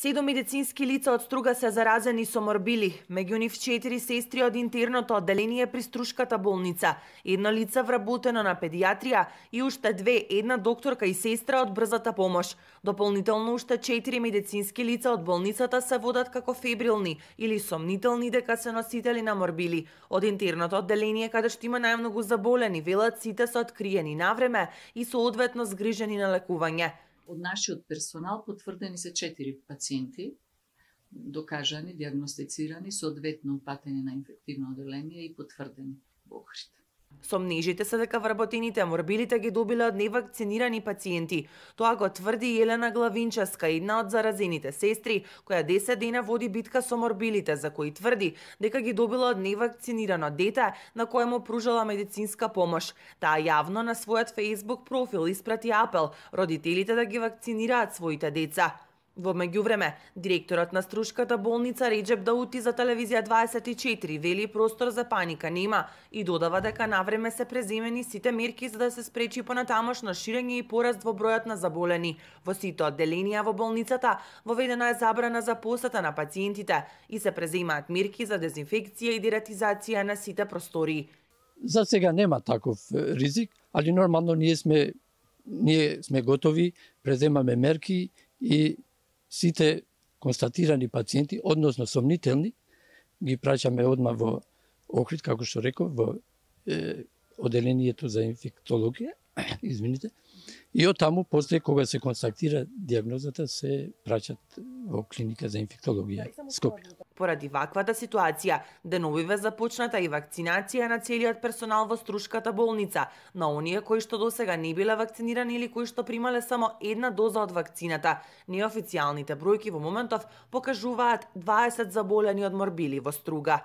7 медицински лица од Струга се заразени со морбили, меѓу нив 4 сестри од интерното одделение при Струшката болница, едно лице вработено на педијатрија и уште 2, една докторка и сестра од брзата помош. Дополнително уште 4 медицински лица од болницата се водат како фебрилни или сомнителни дека се носители на морбили. Од интерното одделение каде што има најмногу заболени, велат сите се откриени навреме и соодветно згрижени на лекување. Од нашиот персонал потврдени се 4 пациенти, докажани, диагностицирани, соодветно упатени на инфективно одделение и потврдени во Охрид. Сомнежите се дека вработените морбилите ги добиле од невакцинирани пациенти. Тоа го тврди Елена Главинческа, една од заразените сестри, која 10 дена води битка со морбилите, за кои тврди дека ги добила од невакцинирано дете на кое му пружала медицинска помош. Таа јавно на својот Facebook профил испрати апел родителите да ги вакцинираат своите деца. Во меѓувреме, директорот на Струшката болница Реџеп Даути за телевизија 24 вели простор за паника нема и додава дека навреме се преземени сите мерки за да се спречи понатамошно ширење и пораст во бројот на заболени. Во сите одделенија во болницата воведена е забрана за посета на пациентите и се преземаат мерки за дезинфекција и дератизација на сите простории. За сега нема таков ризик, али нормално ние сме готови, преземаме мерки и сите констатирани пациенти, односно сомнителни, ги праќаме одма во Охрид, како што реков, во одделението за инфектологија, извините, и од таму, после кога се констатира диагнозата, се праќат во клиника за инфектологија Скопје. Поради ваквата ситуација, деновиве започната и вакцинација на целиот персонал во Струшката болница, на оние кои што досега не биле вакцинирани или кои што примале само една доза од вакцината. Неофицијалните бројки во моментов покажуваат 20 заболени од морбили во Струга.